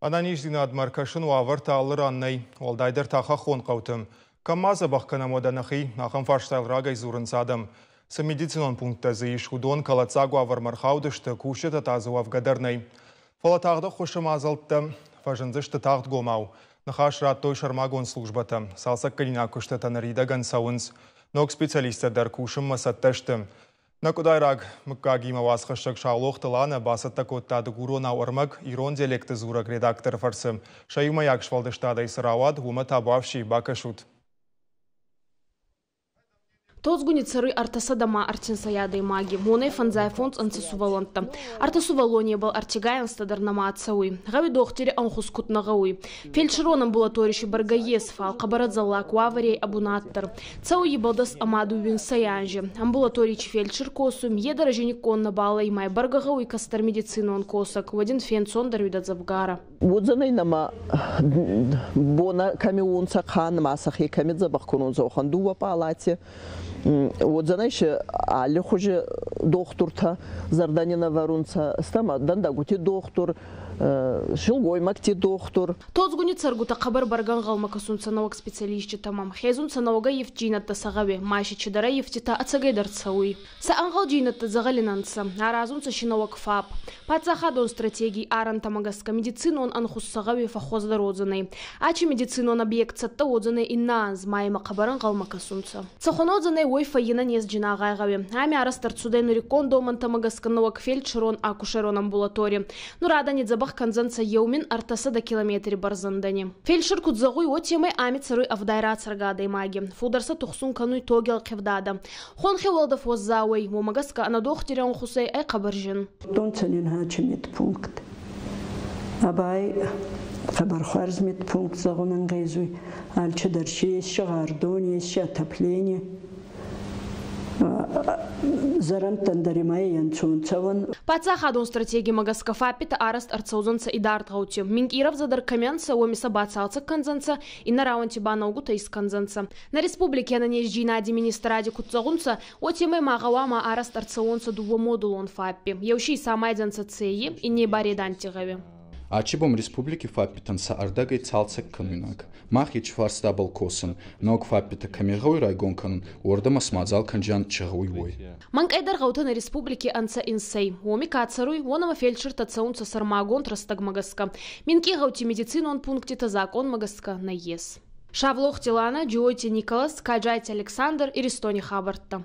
Ӕнӕниздзинадмӕ ӕркӕсын уавӕртӕ алы ран нӕй, уӕлдайдӕр та хӕххон хъӕуты. Кӕм ма дзӕбӕх кӕнӕм уӕдӕ нӕхи, ахӕм фарстайыл рагӕй дзурынц адӕм. Цы медицинон пункттӕ дзы ис, уыдон кӕлӕддзаг уавӕрмӕ ӕрхаудысты, кусджытӕ та дзы уӕвгӕ дӕр нӕй. Фӕлӕ тагъд ӕххуысы мадзӕлттӕ фӕзындзысты тагъдгомау. Ныхас радтой сӕрмагонд службӕтӕ. Цалцӕггӕнинаг куыстытӕ ныридӕгӕн цӕуынц. Ног специалисттӕ дӕр кусынмӕ цӕттӕ сты. Нӕ къуыдайраг мыггагимӕ уацхӕссӕг Саулохты Ланӕ бацӕттӕ кодта дыгуронау ӕрмӕг ирон диалекты дзурӕг редакторы фӕрцы. Сӕ иумӕйаг сфӕлдыстадӕй цы рауад, уымӕ табуафси бакӕсут. Тодзгуни цӕруй ӕртӕсӕдӕ ма ӕртинсӕй адӕймаги, уонӕй фӕндзай фондз ӕнцӕ сувӕллӕнттӕ. Ӕртӕ сувӕллонебӕл ӕртигай ӕнзтӕ дӕр нӕма цӕуй. Гъӕуи дохтири ӕнхус куд нӕ гъӕуй. Фельдшерон амбулаторий си бӕргӕ ес, фал хъӕбӕр ӕдзӕллаг уавӕри ӕй ӕ бунат дӕр. Цӕуй ибӕл дӕс ӕма дууинсӕй анзи. Амбулаторий чи фельдшер косуй, е дӕр ӕзиниккон нӕбал ӕй, ма бӕргӕ гъӕуй кӕстӕр медицинон косӕг, уӕд ин фенцондӕр уидӕ дзӕвгарӕ. Уодзӕнӕй нӕмӕ бонӕ кӕми уонцӕ хан ма сӕхе кӕми дзӕбӕх кӕнонцӕ, уӕхӕн дууӕ палати. Уодзӕнӕй си аллихузи дохтуртӕ зӕрдӕ не нӕвӕрунцӕ, стӕмӕ дӕндӕгути дохтур, силгоймӕгти дохтур. Тодзгуни цӕргутӕ хъӕбӕр бӕргӕ ӕнгъӕлмӕ кӕсунцӕ нӕуӕг специалиститӕмӕ, хезунцӕ нӕуӕгӕй ефтдзийнӕдтӕ сӕ гъӕуи, ма си чидӕр ӕййивтитӕ ӕцӕгӕйдӕр цӕуй. Сӕ ӕнгъӕлдзийнӕдтӕ дзӕгъӕли нӕ нцӕ, аразунцӕ си нӕуӕг ФАП. Паддзахадон стратегий арӕнтӕмӕ гӕсгӕ медицинон ӕнхус сӕ гъӕуи фӕххуӕздӕр уодзӕнӕй. Ачи медицинон объект цӕттӕ уодзӕнӕй иннӕ анз, ма имӕ хъӕбӕр ӕнгъӕлмӕ кӕсунцӕ. Цӕхуӕн уодзӕнӕй, уой фӕййинӕнезджин агъай гъӕуи. Ами арӕзт ӕрцудӕй нуриккон домӕнтӕмӕ гӕсгӕ нӕуӕг фельдшерон-акушерон амбулатори. Нур адӕни дзӕбӕх кӕндзӕнцӕ 1300 километри бӕрзӕндӕни. Фельдшер куд зӕгъуй, уотемӕй ами цӕруй 70 рацӕргӕ адӕймаги. Фулдӕр сӕ тухсун кӕнуй тоги ӕлхъивдадӕ. Хонхи уӕлдӕф уӕззау ӕй, уомӕ гӕсгӕ ӕнӕ дохтири ӕнхусӕй ӕй хъӕбӕр зин. Донцӕ нин хачи медпункт. Абай хъӕбӕр хуарз медпункт зӕгъун ӕнгъезуй. Алчидӕр си ес гъар дон, ес отопление. Зӕрӕндтӕн дӕр имӕ ӕнцон цӕуӕн. Паддзахадон стратегимӕ гӕсгӕ ФАП-итӕ арӕзт ӕрцӕудзӕнцӕ идард гъӕути. Минкъий рӕвдзӕдӕр кӕми ӕнцӕ, уоми сӕ бацалцӕг кӕндзӕнцӕ, иннӕ рауӕнти ба наукутӕ искӕндзӕнцӕ. Нӕ республики ӕнӕнездзийнади министради куд зӕгъунцӕ, уотемӕй ма гъӕуама арӕзт ӕрцӕуонцӕ дууӕ модулон ФАП-и. Еу си исамайдзӕнцӕ Цейи, инней ба Реданти гъӕуи. Ачи бон республики ФАП-итӕн сӕ ӕрдӕгӕй цалцӕг кӕнуйнаг. Мах ечи фарстабӕл косӕн, ног ФАП-итӕ кӕми гъӕуй райгон кӕнун, уордӕмӕ смадзал кӕнджиан чи гъӕуй, уой. Мӕнкъӕйдӕр гъӕутӕ нӕ республики ӕнцӕ инсӕй. Уоми ка цӕруй, уонӕмӕ фельдшертӕ цӕунцӕ сӕрмагонд рӕстӕгмӕ гӕсгӕ. Минкъий гъӕути медицинон пунктитӕ закъонмӕ гӕсгӕ нӕййес. Савлохти Лана, Джиоти Николас, Каджайти Александр, Иристони хабӕрттӕ.